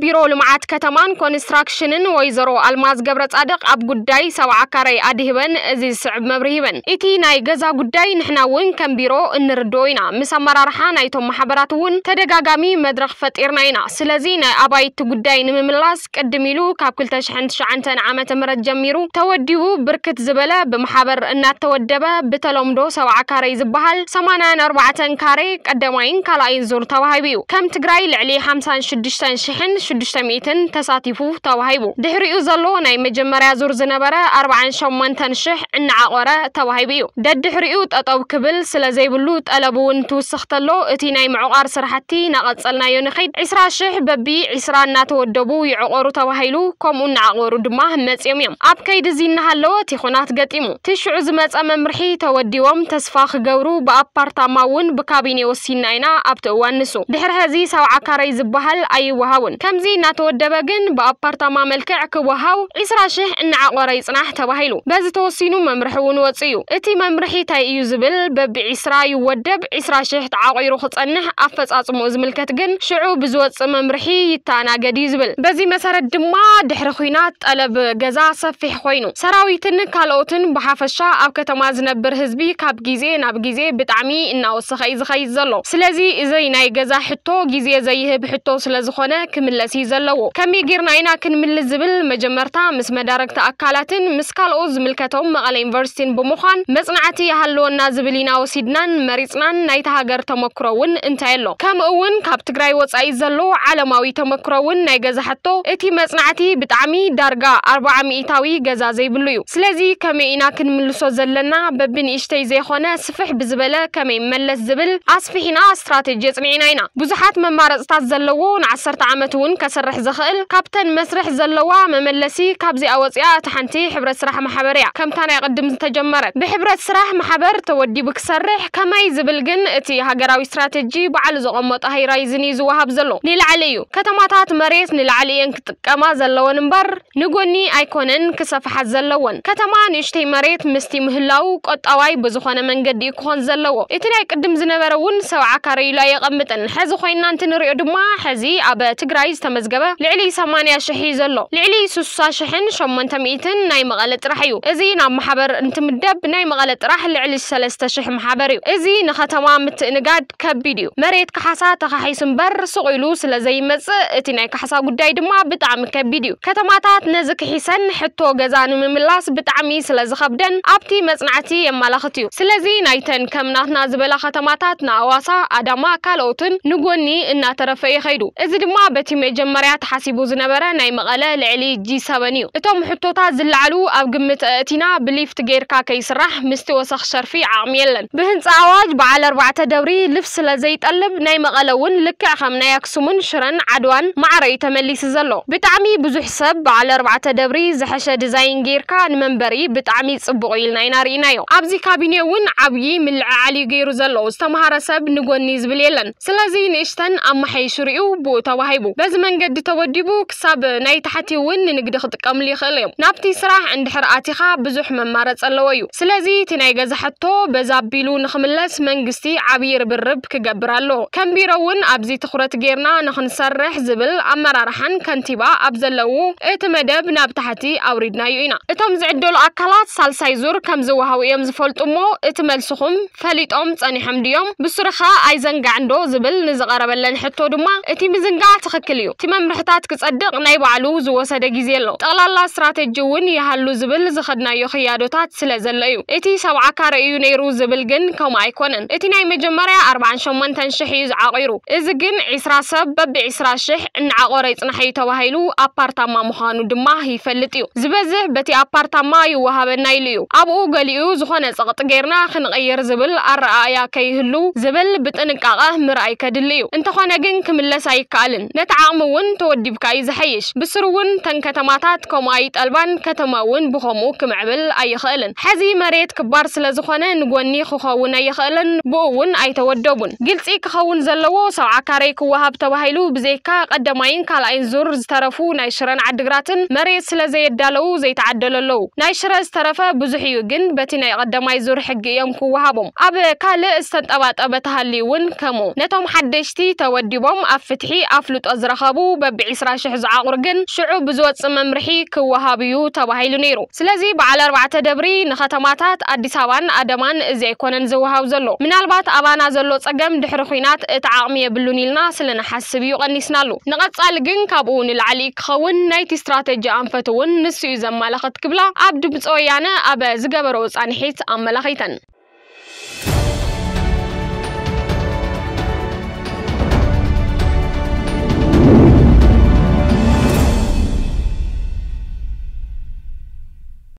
ቢሮ ልምዓት ከተማን ኮንስትራክሽንን ወይዘሮ ኣልማዝ ገብረጻድቕ ኣብ ጉዳይ ሰብዓ ካሬ ኣድሂበን እዚ ዝስዕብ መብርሂ ሂበን። እቲ ናይ ገዛ ጉዳይ ንሕና እውን ከም ቢሮ እንርድኦ ኢና። ምስ ኣመራርሓ ናይቶም ማሕበራት እውን ተደጋጋሚ መድረኽ ፈጢርና ኢና። ስለዚ ናይ ኣባይቲ ጉዳይ ንምምላስ ቅድም ኢሉ ካብ ክልተ ሽሕን ትሽዓተን ዓመተ ምህረት ጀሚሩ ተወዲቡ ብርክት ዝበለ ብማሕበር እናተወደበ ብተለምዶ ሰብዓ ካሬ ዝበሃል ሰማንያን ኣርባዕተን ካሬ ቀዳማይን ካልኣይን ዙር ተዋሂቡ እዩ። ከም ትግራይ ልዕሊ ሓምሳን ሽዱሽተን ሽሕን ሽዱሽተ ሚእትን ተሳቲፉ ተዋሂቡ። ድሕሪኡ ዘሎ ናይ መጀመርያ ዙር ዝነበረ ኣርባዓን ሸሞንተን ሽሕ እናዓቆረ ተዋሂቡ እዩ። ደድሕሪኡ ጠጠው ክብል ስለ ዘይብሉ ጠለብ እውን ትውስኽ ተሎ እቲ ናይ ምዕቋር ስራሕቲ ናቐጸልናዮ ንኸይድ ዒስራ ሽሕ በቢ ዒስራ እናተወደቡ ይዕቆሩ ተባሂሉ ከምኡ እናዓቆሩ ድማ መጽዮም እዮም። ኣብ ከይዲ እዚ እናሃለወ እቲ ኹናት ገጢሙ። እቲ ሽዑ ዝመጸ መምርሒ ተወዲቦም ተስፋ ክገብሩ ብኣፓርታማ እውን ብካቢኔ ወሲንና ኢና ኣብቲ እዋን ንሱ። ድሕሪ ሕዚ ሰብዓ ካሬ ዝበሃል ኣይወሃውን። ከምዚ እናተወደበ ግን ብኣፓርታማ መልክዕ ክወሃው ዒስራ ሽሕ እናዓቆረ ይጽናሕ ተባሂሉ። በዚ ተወሲኑ መምርሒ እውን ወጽኡ እዩ። እቲ መምርሒ እንታይ እዩ ዝብል በቢ ዒስራ ይወደብ፣ ዒስራ ሽሕ ተዓቂሩ ክጸንሕ ኣፈጻጽምኡ ዝምልከት ግን ሽዑ ብዝወጽእ መምርሒ ይተኣናገድ እዩ ዝብል። በዚ መሰረት ድማ ድሕሪ ኹናት ጠለብ ገዛ ሰፊሕ ኮይኑ ሰራዊትን ካልኦትን ብሓፈሻ ኣብ ከተማ ዝነብር ህዝቢ ካብ ግዜ ናብ ግዜ ብጣዕሚ እናወሰኸ እዩ ዝኸይድ ዘሎ። ስለዚ እዚ ናይ ገዛ ሕቶ ግዜ ዘይህብ ሕቶ ስለ ዝኾነ ክምለስ እዩ ዘለዎ። ከመይ ጌርና ኢና ክንምልስ ዝብል መጀመርታ ምስ መዳረግቲ ኣካላትን ምስ ካልኦት ዝምልከቶም መቐለ ዩኒቨርሲቲን ብምዃን መጽናዕቲ ይሃልወና ዝብል ኢና ወሲድናን መሪጽናን። ናይታ ሃገር ተመክሮ እውን እንታይ ኣሎ? ከምኡ እውን ካብ ትግራይ ወጻኢ ዘሎ ዓለማዊ ተመክሮ እውን ናይ ገዛ ሕቶ እቲ መጽናዕቲ ብጣዕሚ ዳርጋ ኣርባዓ ሚእታዊ ገዛ ዘይብሉ እዩ። ስለዚ ከመይ ኢና ክንምልሶ ዘለና? በብንእሽተይ ዘይኾነ ስፍሕ ብዝበለ ከመይ መለስ ዝብል ኣስፊሕና ስትራቴጂ ኣጽኒዕና ኢና። ብዙሓት መማረጽታት ዘለዎ ንዓሰርተ ዓመት እውን ከሰርሕ ዝኽእል ካብተን መስርሕ ዘለዋ መመለሲ ካብዚኣ ወፂኣ እታ ሓንቲ ሕብረት ስራሕ ማሕበር እያ። ከምታ ናይ ቅድም ዝተጀመረት ብሕብረት ስራሕ ማሕበር ተወዲቡ ክሰርሕ ከመይ ዝብል ግን እቲ ሃገራዊ ስትራቴጂ ባዕሉ ዘቐመጦ ሃይራይዝን እዩ ዝወሃብ ዘሎ። ንላዕሊ እዩ። ከተማታት መሬት ንላዕሊ እየን ክጥቀማ ዘለወን እምበር ንጎኒ ኣይኮነን ክሰፍሓ ዘለዎን። ከተማ ንእሽተይ መሬት ምስቲ ምህላው ቆጣዋይ ብዝኾነ መንገዲ እዩ ክኾን ዘለዎ። እቲ ናይ ቅድም ዝነበረ እውን ሰብዓ ካሬ ኢሉ ኣየቐምጥን። ሕዚ ኮይና እንትንሪኦ ድማ ሕዚ ኣብ ትግራይ ዝተመዝገበ ልዕሊ ሰማንያ ሽሕ እዩ ዘሎ። ልዕሊ ስሳ ሽሕን ሸሞንተ ሚእትን ናይ መቐለ ጥራሕ እዩ። እዚ ናብ ማሕበር እንትምደብ ናይ መቐለ ጥራሕ ልዕሊ ሰለስተ ሽሕ ማሕበር እዩ። እዚ ንከተማ ምትእንጋድ ከቢድ እዩ። መሬት ካሕሳ ተኻሒሱ እምበር ስቕ ኢሉ ስለ ዘይመጽእ እቲ ናይ ካሕሳ ጉዳይ ድማ ብጣዕሚ ከቢድ እዩ። ከተማታት ነዚ ክሒሰን ሕቶ ገዛ ንምምላስ ብጣዕሚ ስለ ዝኸብደን ኣብቲ መጽናዕቲ የመላኽት እዩ። ስለዚ ናይተን ከም ናትና ዝበላ ከተማታት ንኣዋሳ፣ ኣዳማ፣ ካልኦትን ንጎኒ እናተረፈ እዩ ከይዱ። እዚ ድማ በቲ መጀመርያ ተሓሲቡ ዝነበረ ናይ መቐለ ልዕሊ ጂ ሰበን እዩ። እቶም ሕቶታት ዝለዓሉ ኣብ ግምት ኣእቲና ብሊፍት ጌርካ ከይስራሕ ምስቲ ወሰኽ ሸርፊ ዓቕሚ የለን። ብህንፃ ኣዋጅ በዓል ኣርባዕተ ደብሪ ልፍት ስለ ዘይጠልብ ናይ መቐለ እውን ልክዕ ከም ናይ ኣክሱምን ሽረን ዓድዋን ማዕረ እዩ ተመሊሱ ዘሎ። ብጣዕሚ ብዙሕ ሰብ በዓል ኣርባዕተ ደብሪ ዝሐሸ ዲዛይን ጌርካ ንመንበሪ ብጣዕሚ ፅቡቕ ኢልና ኢና ርኢናዮ። ኣብዚ ካቢኔ እውን ዓብዪ ምልዕዓል እዩ ገይሩ ዘሎ። ዝተምሃረ ሰብ ንጎኒ ዝብል የለን። ስለዚ ንእሽተን ኣመሓይሹ ሪኡ ብኡ ተዋሂቡ። በዚ መንገዲ ተወዲቡ ክሳብ ናይ ታሕቲ እውን ንንግዲ ክጥቀምሉ ይኽእሉ እዮም። ናብቲ ስራሕ እንድሕር ኣቲኻ ብዙሕ መማረፂ ኣለዎ እዩ። ስለዚ እቲ ናይ ገዛ ሕቶ በዛ ኣቢሉ ንኽምለስ መንግስቲ ዓብዪ ርብርብ ክገብር ኣለዎ። ከም ቢሮ እውን ኣብዚ ትኹረት ጌርና ንኽንሰርሕ ዝብል ኣመራርሓን ከንቲባ ኣብ ዘለዉ እቲ መደብ ናብ ታሕቲ ኣውሪድናዮ ኢና። እቶም ዝዕደሉ ኣካላት ሳልሳይ ዙር ከም ዝወሃቡ እዮም ዝፈልጡ እሞ እቲ መልስኹም ፈሊጦም ጸኒሖም ድዮም? ብሱርኻ ኣይዘንጋዕንዶ ዝብል ንዝቐረበለን ሕቶ ድማ እቲ ምዝንጋዕ ትኽክል እዩ። እቲ መምርሕታት ክጸድቕ ናይ ባዕሉ ዝወሰደ ግዜ ኣሎ። ጠቕላላ ስትራተጂ እውን ይሃሉ ዝብል ዝኸድናዮ ክያዶታት ስለ ዘሎ እዩ። እቲ ሰብዓ ካሬ እዩ ነይሩ ዝብል ግን ከምኡ ኣይኮነን። እቲ ናይ መጀመርያ ኣርባዓን ሸሞንተን ሽሕ እዩ ዝዓቒሩ። እዚ ግን ዒስራ ሰብ በቢ ዒስራ ሽሕ እናዓቖረ ይጽናሕ እዩ ተባሂሉ ኣፓርታማ ምዃኑ ድማ ይፈልጥ እዩ። ዝበዝሕ በቲ ኣፓርታማ ይወሃበና ኢሉ እዩ። ኣብኡ ገሊኡ ዝኾነ ጸቕጢ ጌርና ክንቕይር ዝብል ኣረኣእያ ከይህሉ ዝብል ብጥንቃቐ ምርኣይ ከድሊ እዩ። እንተኾነ ግን ክምለስ ኣይከኣልን። ነቲ ዓቕሚ እውን ተወዲብካ እዩ ዝሐይሽ። ብስሩ እውን ተን ከተማታት ከምኡ ኣይጠልባን፣ ከተማ እውን ብኸምኡ ክምዕብል ኣይኽእልን። ሕዚ መሬት ክባር ስለ ዝኾነ ንጎኒ ክኸውን ኣይኽእልን፣ ብኡ እውን ኣይተወደቡን። ግልጺ ክኸውን ዘለዎ ሰብዓ ካሬ ክወሃብ ተባሂሉ ብዘይካ ቀዳማይን ካልኣይን ዙር ዝተረፉ ናይ ሽረን ዓድግራትን መሬት ስለ ዘየዳለዉ ዘይተዓደሎ ኣለዉ። ናይ ሽረ ዝተረፈ ብዙሕ እዩ፣ ግን በቲ ናይ ቀዳማይ ዙር ሕጊ እዮም ክወሃቦም። ኣብ ካልእ ዝተንጠባጠበ ተሃልዩ እውን ከምኡ። ነቶም ሓደሽቲ ተወዲቦም ኣብ ፍትሒ ኣፍልጦ ዝረኸቡ በቢ ዕስራ ሽሕ ዝዓቑር ግን ሽዑ ብዝወጽእ መምርሒ ክወሃብ እዩ ተባሂሉ ነይሩ። ስለዚ በዓል ኣርባዕተ ደብሪ ንከተማታት ኣዲስ ኣበባን ኣዳማን እዚ ኣይኮነን ዝወሃብ ዘሎ። ምናልባት ኣባና ዘሎ ጸገም ድሕሪ ኲናት እቲ ዓቕሚ የብሉን ኢልና ስለ ንሓስብ እዩ ቀኒስናሉ። ንቐጻሊ ግን ካብኡ ንላዕሊ ክኸውን ናይቲ ስትራተጂ ኣንፈት እውን ንሱ እዩ ዘማላኽት ክብላ ኣብ ድምፂ ወያነ ኣብ ዝገበረኦ ጻንሒት ኣመላኺተን።